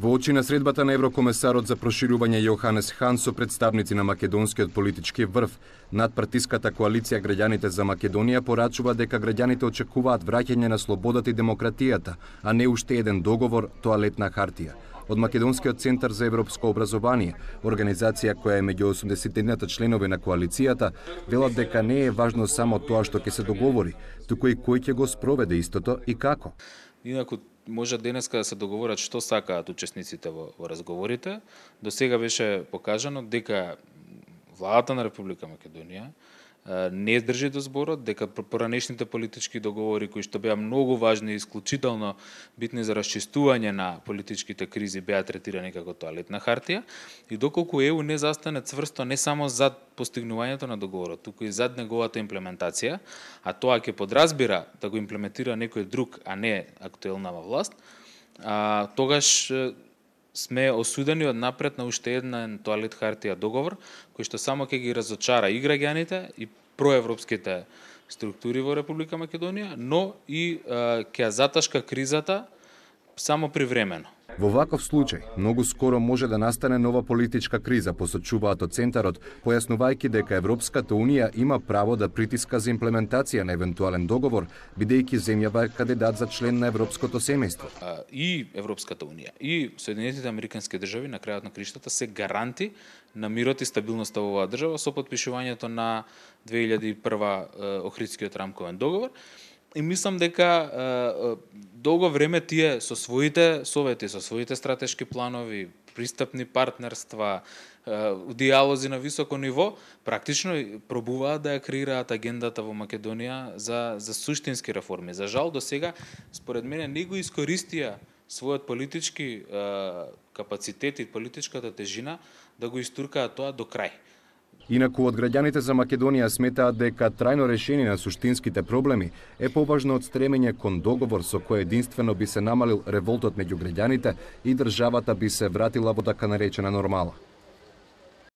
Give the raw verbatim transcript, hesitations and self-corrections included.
Во очи на средбата на еврокомесарот за проширување Јоханес Хан со представници на македонскиот политички врв, надпартиската коалиција Граѓаните за Македонија порачува дека граѓаните очекуваат враќање на слободата и демократијата, а не уште еден договор, тоалетна хартија. Од Македонскиот центар за европско образование, организација која е меѓу осумдесетината членови на коалицијата, велат дека не е важно само тоа што ќе се договори, туку и кој ќе го спроведе истото и како. Инаку може денеска да се договорат што сакаат учесниците во, во разговорите. До сега беше покажано дека владата на Република Македонија не држи до зборот, дека поранешните политички договори кои што беа многу важни и исклучително битни за расчистување на политичките кризи беа третирани како тоалетна хартија и доколку ЕУ не застане цврсто не само зад постигнувањето на договорот, туку и зад неговата имплементација, а тоа ќе подразбира да го имплементира некој друг, а не актуелнава власт, а, тогаш сме осудени од напред на уште еден тоалет хартија договор, кој што само ќе ги разочара и граѓаните и проевропските структури во Република Македонија, но и а, ќе заташка кризата само привремено. Во ваков случај, многу скоро може да настане нова политичка криза, посочуваат од Центарот, појаснувајќи дека Европската Унија има право да притиска за имплементација на евентуален договор, бидејќи земјава е кандидат за член на Европското семејство. И Европската Унија, и Соединетите Американски држави на крајот на криштата се гаранти на мирот и стабилноста во оваа држава со потпишувањето на две илјади и прва Охридскиот рамковен договор. И мислам дека е, долго време тие со своите совети, со своите стратешки планови, пристапни партнерства, е, диалози на високо ниво, практично пробуваат да ја креираат агендата во Македонија за, за суштински реформи. За жал, до сега, според мене, не го искористија својот политички е, капацитет и политичката тежина да го истуркаат тоа до крај. Инаку од граѓаните за Македонија сметаат дека трајно решение на суштинските проблеми е поважно од стремење кон договор со кој единствено би се намалил револтот меѓу граѓаните и државата би се вратила во така наречена нормала.